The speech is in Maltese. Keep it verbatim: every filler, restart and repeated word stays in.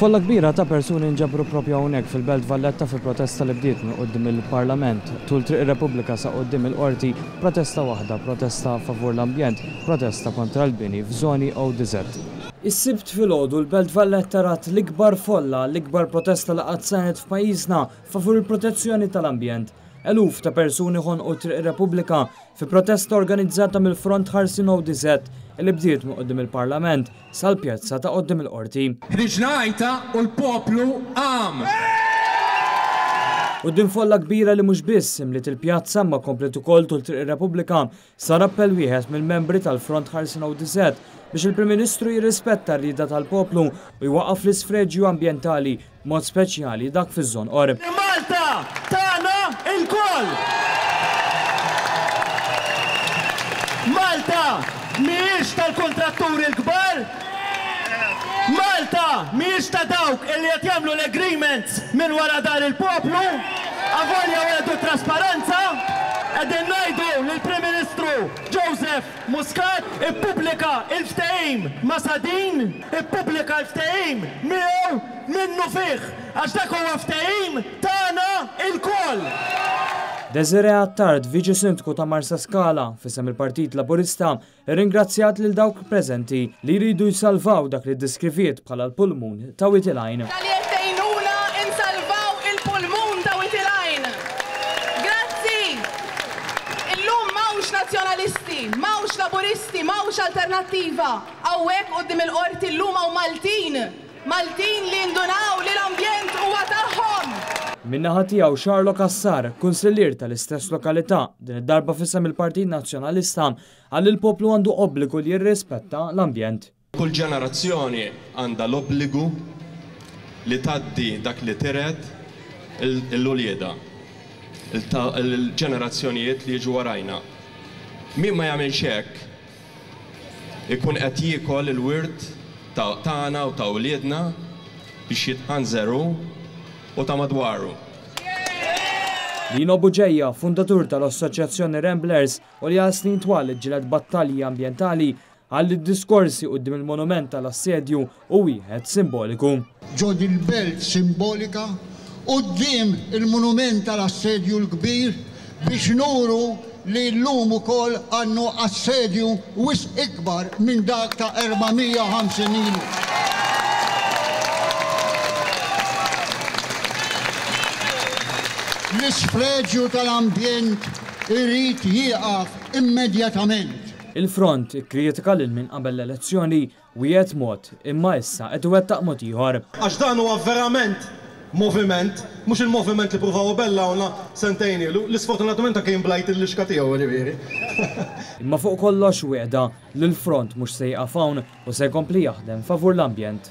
Folla kbira ta' persuni nġabru propju hawnhekk fil-Belt Valletta fi protesta li bdiet minn quddiem il-Parlament. Tul Triq ir-Repubblika sa quddiem il-Qorti, protesta waħda, protesta favur l-ambjent, protesta kontra l-bini f'żoni O D Z. Is-Sibt filgħodu l-Belt Valletta rat l-ikbar folla, l-ikbar protesta li qatt saret f'pajjiżna favur il-protezzjoni tal-ambjent. Eluf ta' persuni ħonqu Triq ir-Repubblika fi protesta organizzata mill-Front Ħarsien O D Z li bdiet minn quddiem il-Parlament sal-pjazza ta' quddiem il-Qorti. Ħriġna għajta u l-poplu qam! Quddiem folla kbira li mhux biss imliet il-pjazza ma komplet ukoll tul Triq ir-Repubblika, sar appell wieħed mill-membri tal-Front Ħarsien O D Z biex il-Prim Ministru jirrispetta r-rieda tal-poplu u jwaqqaf l-isfreġju ambjentali, mod speċjali dak fiż-Żonqor. Malta tagħna lkoll! Malta mhijiex tal-kontratturi l-kbar! Malta mhijiex ta' dawk illi qed jagħmlu l-agreements minn wara dahar il-poplu, avolja wegħdu trasparenza, qegħdin ngħidu lill-Prim Ministru Joseph Muscat ippubblika il-ftehim ma' Sadeen, ippubblika l-ftehim miegħu minnufih, għax dak huwa ftehim tagħna lkoll. Desiree Attard, Viċi Sindku ta' Marsaskala, f'isem il-Partit Laburista, ringrazzjat lil dawk preżenti li jridu jsalvaw dak li ddiskriviet bħala l-pulmun ta' Wied il-Għajn. Talli qed tgħinuna insalvaw il-pulmun ta' Wied il-Għajn. Grazzi! Illum m'hawnx nazzjonalisti, m'hawnx laburisti, m'hawnx alternattiva. Hawnhekk quddiem il-qorti llum hawn Maltin. Maltin li ndunaw li l-ambjent huwa tagħhom. Min-naħa tiegħu Charlo Cassar, kunsillier tal-istess lokalità, din id-darba f'isem il-Partit Nazzjonalista, qal li l-poplu għandu obbligu li jirrispetta l-ambjent. Kull ġenerazzjoni għandha l-obbligu li tgħaddi dak li tiret lil uliedha, il-ġenerazzjonijiet li jiġu warajna. Min ma jagħmilx hekk ikun qed jiekol il-wirt tagħna u ta' uliedna biex jitħanżer hu u ta' madwaru. Lino Bugeja, fundatur tal-Assoċjazzjoni Ramblers u li għal snin twal ġġieled battalji ambjentali, qal li d-diskorsi quddiem il-monument tal-assedju hu wieħed simboliku. Ġo il-belt simbolika quddiem il-monument tal-assedju l-kbir biex nuru li l-lum ukoll għandna assedju wisq ikbar minn dak ta' erba' mija u ħamsin ilu. L-isfreġju tal-ambjent irid jieqaf immedjatament. Il-Front ikkritika lil min qabel l-elezzjoni wiegħed mod imma issa qed iwettaq mod ieħor. Għax dan huwa verament moviment, mhux il-moviment li pruvaw bellawna sentejn ilu, li sfortunatament anke jimblajt il-lixka tiegħu, ġifieri. Imma fuq kollox wegħda li l-Front mhux se jieqaf hawn u se jkompli jaħdem favur l-ambjent.